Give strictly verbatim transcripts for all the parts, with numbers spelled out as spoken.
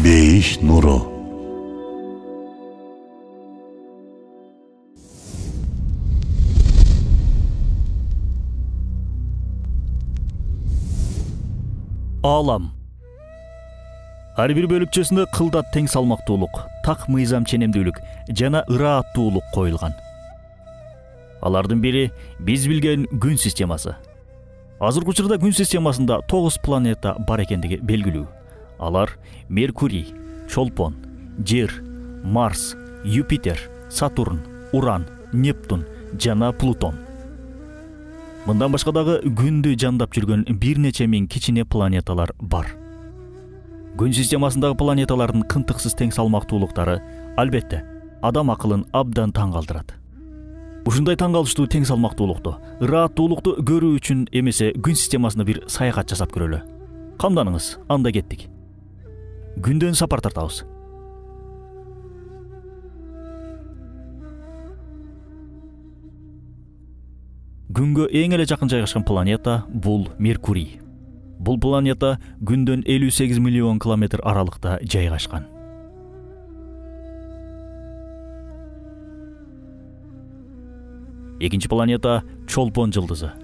Бейиш нуру. Алам. Ар бир бөлүкчөсүндө кылдат тең салмактуулук, так мыйзам ченемдүүлүк жана ырааттуулук коюлган. Алардын бири биз билген күн системасы. Азыркы учурда күн системасында тогуз планета бар экендиги белгилүү. Алар Меркурий, Чолпон, Жер, Марс, Юпитер, Сатурн, Уран, Нептун жана Плутон. Мындан башка дагы күндү жандап жүргөн бир нече миң кичине планеталар бар. Күн системасындагы планеталардын кынтыксыз тең салмактуулуктары албетте адам акылын абдан таң калтырат. Ушундай таң калыштуу тең салмактуулукту, ырааттуулукту көрүү үчүн эмесе күн системасына бир саякат жасап көрөлү. Камданыңыз, анда кеттик. Күндөн сапар тартабыз. Күнгө эң эле жакын жайгашкан планета бул Меркурий. Бул планета күндөн элүү сегиз миллион километр аралыкта жайгашкан. Экинчи планета Чолпон жылдызы.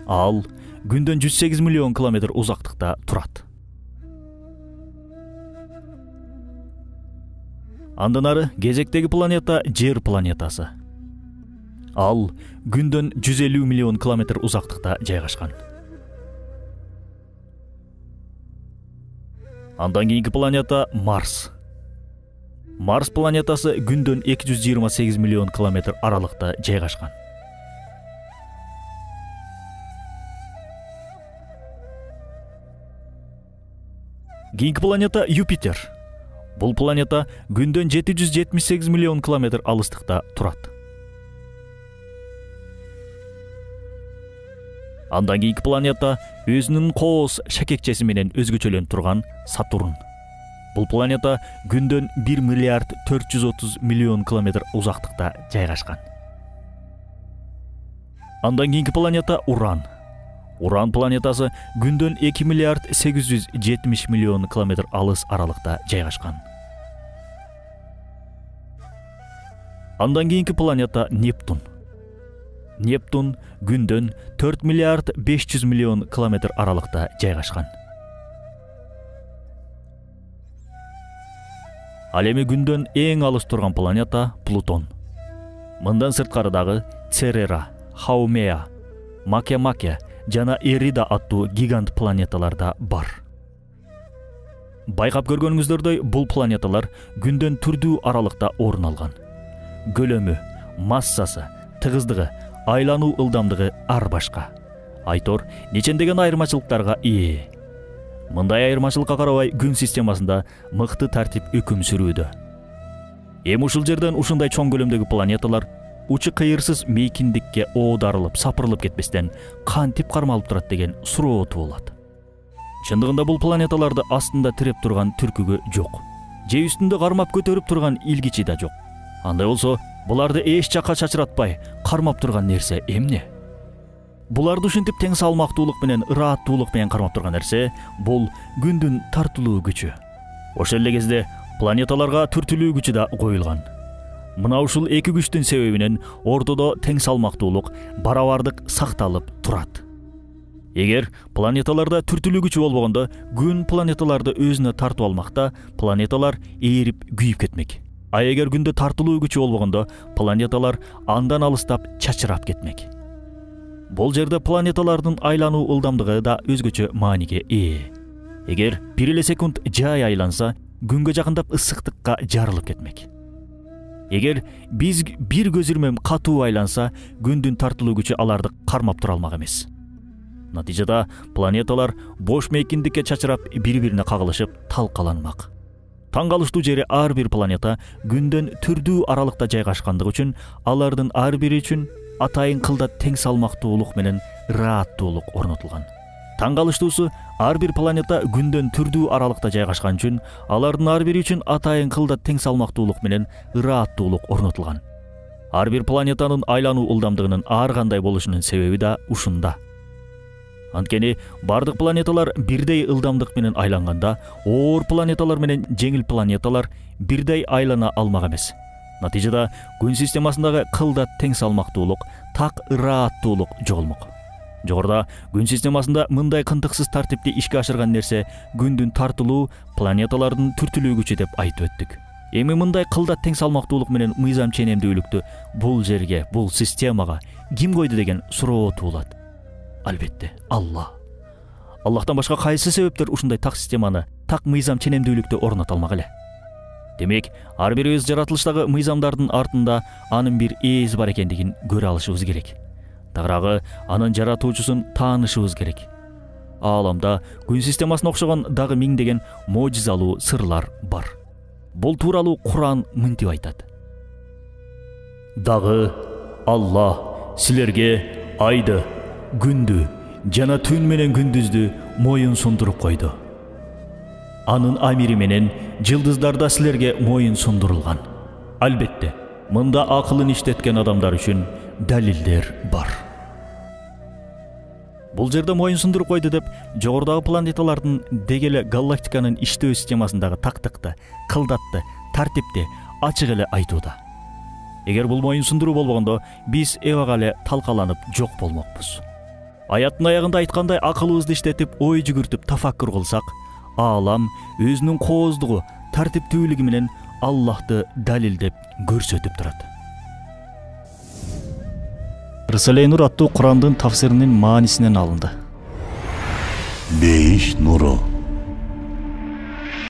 Ал күндөн жүз сегиз миллион километр узактыкта турат. Андан ары кезектеги планета Жер планетасы. Ал күндөн жүз элүү миллион километр узактыкта жайгашкан. Андан кийинки планета Марс. Марс планетасы күндөн эки жүз жыйырма сегиз миллион километр аралыкта жайгашкан. Кийинки планета Юпитер. Бул планета күндөн жети жүз жетимиш сегиз миллион километр алыстыкта турат. Андан кийинки планета өзүнүн кооз шакекчеси менен өзгөчөлөнүп турган Сатурн. Бул планета күндөн бир миллиард төрт жүз отуз миллион километр узактыкта жайгашкан. Андан кийинки планета Уран. Уран планетасы күндөн эки миллиард сегиз жүз жетимиш миллион километр алыс аралыкта жайгашкан. Андан кийинки планета Нептун. Нептун күндөн төрт миллиард беш жүз миллион километр аралыкта жайгашкан. Ал эми күндөн эң алыс турган планета Плутон. Мындан сырткары дагы Церера, Хаумеа, Макемаке жана Эрида аттуу гигант планеталар да бар. Байкап көргөнүңүздөрдөй, бул планеталар күндөн түрдүү аралыкта орун алган. Көлөмү, массасы, тыгыздыгы, айлануу ылдамдыгы ар башка. Айтор нечендеген айырмачылыктарга ээ. Мындай айырмачылыкка карабай күн системасында мыкты тартип өкүм сүрүүдө. Эми ушул жерден ушундай чоң көлөмдөгү планеталар учу кыйырсыз мейкиндикке оодарылып, сапырылып кетпестен кантип кармалып турат деген суроо туулат. Чындыгында бул планеталарды астында тиреп турган түркүгө жок. Же үстүндө кармап көтөрүп турган илгичи да жок. Андай болсо, буларды эч жакка чачыратпай кармап турган нерсе эмне? Буларды ушинтип тең салмактуулук менен, ырааттуулук менен кармап турган нерсе бул күндүн тартылуу күчү. Ошол эле кезде планеталарга түртүлүү күчү да коюлган. Мына ушул эки күчтүн себебинен ортодо тең салмактуулук, барабардык сакталып турат. Эгер планеталарда түртүлүү күчү болбогондо, күн планеталарды өзүнө тартып алмакта, планеталар ээрип күйүп кетмек. А эгер күндө тартылуу күчү болбогондо, планеталар андан алыстап чачырап кетмек. Бул жерде планеталардын айлануу ылдамдыгы да өзгөчө мааниге ээ. Эгер бир эле секунд жай айланса, күнгө жакындап ысыктыкка жарылып кетмек. Эгер биз бир көз ирмем катуу айланса, күндүн тартылуу күчү аларды кармап тура алмак эмес. Натыйжада планеталар бош мейкиндикке чачырап, бири-бирине кагылышып талкаланмак. Таң калыштуу жери ар бир планета күндөн түрдүү аралыкта жайгашкандыгы үчүн алардын ар бири үчүн атайын кылдат тең салмактуулук менен ырааттуулук орнотулган. Таң калыштуусу, ар бир планета күндөн түрдүү аралыкта жайгашкан үчүн алардын ар бири үчүн атайын кылдат тең салмактуулук менен ырааттуулук орнотулган. Ар бир планетанын айлануу ылдамдыгынын ар кандай болушунун себеби да ушунда. Анткени бардык планеталар бирдей ылдамдык менен айланганда, оор планеталар менен жеңил планеталар бирдей айлана алмак эмес. Натыйжада күн системасындагы кылдат тең салмактуулук, так ырааттуулук жоголмок. Жогоруда күн системасында мындай кынтыксыз тартипти ишке ашырган нерсе күндүн тартылуу, планеталардын түртүлүү күчү деп айтып өттүк. Эми мындай кылдат тең салмактуулук менен мыйзам ченемдүүлүктү бул жерге, бул системага ким койду деген суроо туулат. Албетте, Алла. Аллахтан башка кайсы себептер ушундай так системаны, так мыйзам ченемдүүлүктү орното алмак эле? Демек, ар бирибиз жаратылыштагы мыйзамдардын артында анын бир ээси бар экендигин көрө алышыбыз керек. Тагыраагы анын жаратуучусун таанышыбыз керек. Ааламда күн системасына окшогон дагы миңдеген можизалуу сырлар бар. Бул тууралуу Куран мынтип айтат. Дагы Алла силерге айды, күндү жана түн менен күндүздү моюн сундуруп койду. Анын амири менен жылдыздарда силерге моюн сундурулган. Албетте, мында акылын иштеткен адамдар үчүн далилдер бар. Бул жерде моюн сундуруп койду деп жогорудагы планеталардын дегеле галактиканын иштөө системасындагы тактыкты, кылдатты, тартипти ачык эле айтууда. Эгер бул моюн сундуруу болбогондо, биз эбак эле талкаланып жок болмокпуз. Аяттын аягында айткандай акылыбызды иштетип, ой жүгүртүп тафаккур кылсак, аалам өзүнүн кооздугу, тартиптүүлүгү менен Аллахты далилдеп көрсөтүп турат. Рисале Нур аттуу Курандын тафсиринин маанисинен алынды. Бейиш нуру.